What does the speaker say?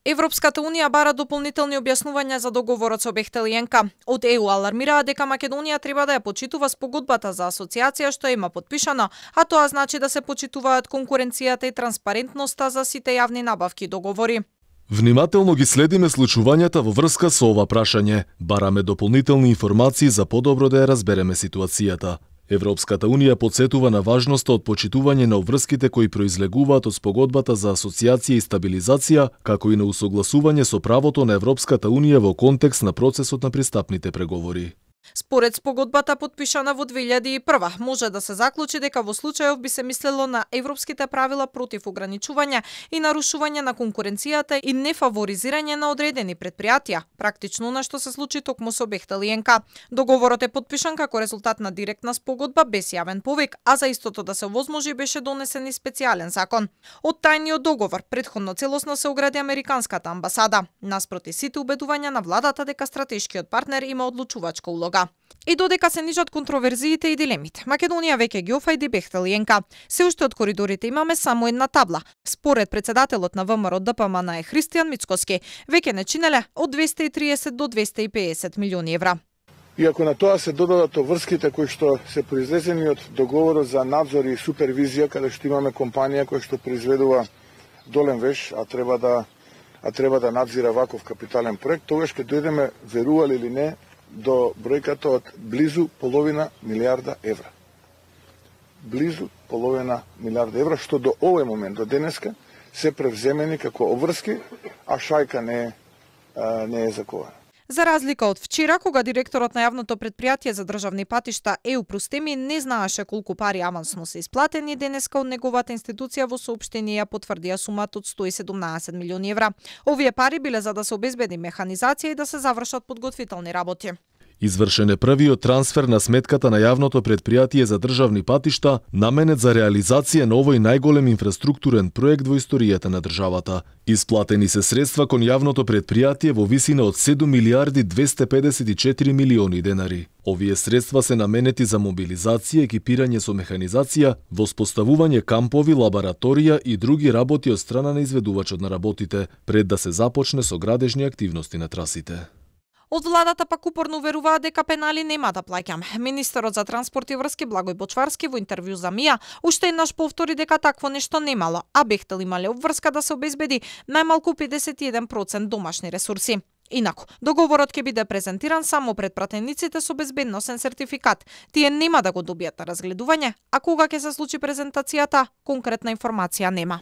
Европската унија бара дополнителни објаснувања за договорот со Бехтел и ЕНК. Од ЕУ алармираат дека Македонија треба да ја почитува спогодбата за асоциација што има подпишана, а тоа значи да се почитуваат конкуренцијата и транспарентноста за сите јавни набавки и договори. Внимателно ги следиме случувањата во врска со ова прашање. Бараме дополнителни информации за подобро да ја разбереме ситуацијата. Европската унија потсетува на важноста од почитување на обврските кои произлегуваат од спогодбата за асоциација и стабилизација, како и на усогласување со правото на Европската унија во контекст на процесот на пристапните преговори. Според спогодбата подпишана во 2001, може да се заклучи дека во случајов би се мислело на европските правила против ограничување и нарушување на конкуренцијата и нефаворизирање на одредени предпријатија, практично на што се случи токму со Бехтел и ЕНК. Договорот е подпишан како резултат на директна спогодба без јавен повик, а за истото да се овозможи беше донесен и специјален закон. Од тајниот договор претходно целосно се огради американската амбасада, наспроти сите убедувања на владата дека стратешкиот партнер има одлучувачка улога. И додека се нижат контроверзиите и дилемите, Македонија веќе ги офајди Бехтел и ЕНК. Се уште од коридорите имаме само една табла. Според председателот на ВМРО ДПМН е Христијан Мицкоски, веќе не чинеле од 230 до 250 милиони евра. И ако на тоа се додадат врските кои што се произлезени од договорот за надзор и супервизија, каде што имаме компанија која што произведува долен веш, а треба да надзира ваков капитален проект, тогаш ќе дојдеме, верували или не, до бројката од близу половина милиарда евра. Близу половина милиарда евра, што до овој момент, до денеска, се превземени како обврски, а шајка не е закована. За разлика од вчера, кога директорот на јавното предпријатие за државни патишта ЕУ Простеми не знаеше колку пари авансно се исплатени, денеска од неговата институција во соопштение ја потврдија сумата од 117 милиони евра. Овие пари биле за да се обезбеди механизација и да се завршат подготвителни работи. Извршен е првиот трансфер на сметката на јавното предпријатие за државни патишта, наменет за реализација на овој најголем инфраструктурен проект во историјата на државата. Исплатени се средства кон јавното предпријатие во висина од 7 милиарди 254 милиони денари. Овие средства се наменети за мобилизација, екипирање со механизација, воспоставување кампови, лабораторија и други работи од страна на изведувачот на работите, пред да се започне со градежни активности на трасите. Од владата пак упорно веруваат дека пенали нема да плаќам. Министерот за транспорт и врски Благој Бочварски во интервју за МИА уште еднаш повтори дека такво нешто немало, а Бехтел имале обврска да се обезбеди најмалку 51% домашни ресурси. Инаку, договорот ќе биде презентиран само пред пратениците со безбедносен сертификат. Тие нема да го добијат на разгледување, а кога ќе се случи презентацијата, конкретна информација нема.